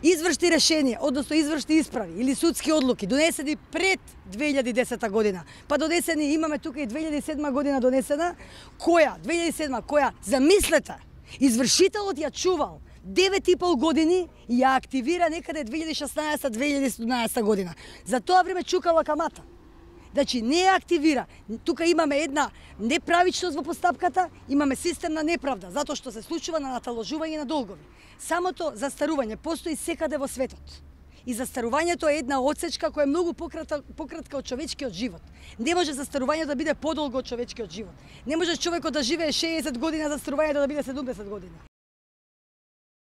Извршни решенија, односно извршни исправи или судски одлуки донесени пред 2010 година, па донесени имаме тука и 2007 година донесена, која замислете, извршителот ја чувал 9,5 години и ја активира некаде 2016-2017 година. За тоа време чукала камата. Значи не ја активира. Тука имаме една неправичност во постапката, имаме системна неправда, затоа што се случува на наталожување на долгови. Самото застарување постои секаде во светот. И застарувањето е една одсечка која е многу пократка од човечкиот живот. Не може застарувањето да биде подолго од човечкиот живот. Не може човекот да живее 60 години, а застарувањето да биде 70 години.